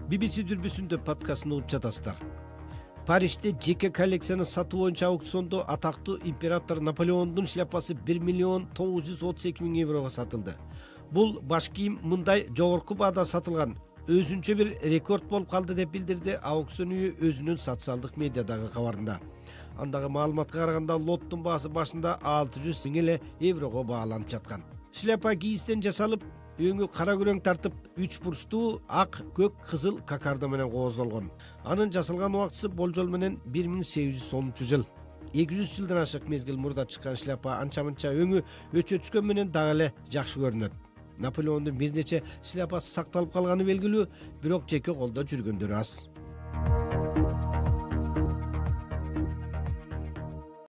BBC дүрбүсүндө подкастын угуп жатасыздар. Парижде жеке коллекцияны сатуу боюнча аукциондо атактуу император Наполеондун шляпасы 1,932,000 еврого сатылды. Бул баш кийим мындай жогорку баада сатылган өзүнчө бир рекорд болуп калды деп билдирди аукцион үйү өзүнүн социалдык медиадагы кабарында. Андагы маалыматка караганда лоттун баасы башында 600 000 еврого бааланып жаткан. Шляпа кийистен жасалып, өңү кара күрөң тартып, 3 бурчтуу ак, көк, кызыл кокардо менен кооздолгон. Анын жасалган убактысы болжол менен 1810 жыл. 200 жылдан ашык мезгил мурда чыккан шляпа анча-мынча өңү өчө түшкөн менен дагы эле жакшы көрүнөт. Наполеондун бир нече шляпасы сакталып калганы белгилүү, бирок жеке колдо жүргөндөрү аз.